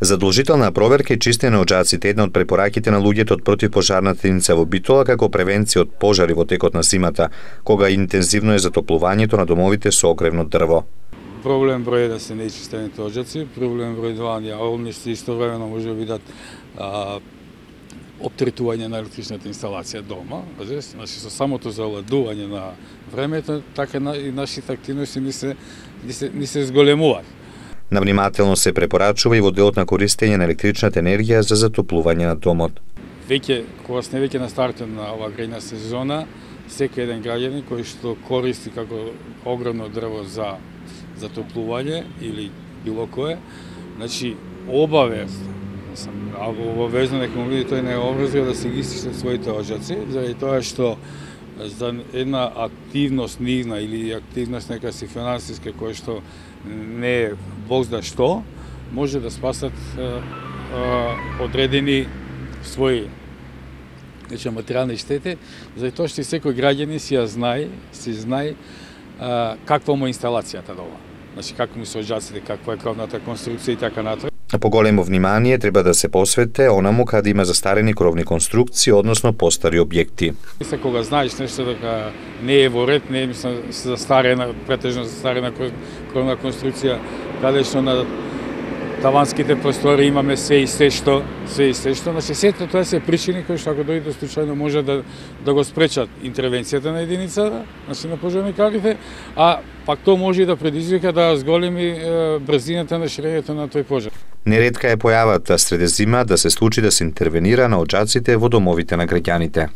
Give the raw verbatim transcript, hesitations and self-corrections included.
Задолжителна проверка и чистење на оџаците е една од препораките на луѓето од противпожарната единица во Битола како превенција од пожари во текот на зимата, кога интензивно е затоплувањето на домовите со огревно дрво. Проблем број еден се неичистените оџаци, проблем број два олнишци истовремено може да бидат а, оптретување на електричната инсталација дома, значи со самото заладување на времето, така и нашите активности ни се, ни се, ни се зголемуваат. Навнимателно се препорачува и во делот на користење на електричната енергија за затоплување на домот. Веќе, кога сме веќе на стартот на оваа грејна сезона, секој еден граѓанин кој што користи како огромно дрво за затоплување или било кое, значи обавезно, обавезно нека му биде тој не образува да се ги истичат своите оџаци, заради тоа што за една активност нивна или активност нека си финансиска која што не е бог знае што, може да спасат а, а, одредени своји значи материјални штети, заради тоа што секој граѓанин си ја знае, си знае а, каква му е инсталацијата дома. Значи како му се оџаците, каква е кровната конструкција и така натаму. Поголемо внимание треба да се посвете онаму каде има застарени кровни конструкции, односно постари објекти. Се кога знаеш нешто дека не е во ред, не е мислам застарена, претежно застарена кровна конструкција, каде што на таванските простори имаме се и се што, се и се што, значи сето тоа се причини кои што ако дојде случајно може да да го спречат интервенцијата на единицата, значи на пожарникарите, а пак тоа може и да предизвика да зголеми брзината на ширењето на тој пожар. Неретка е појавата среде зима да се случи да се интервенира на оџаците во домовите на граѓаните.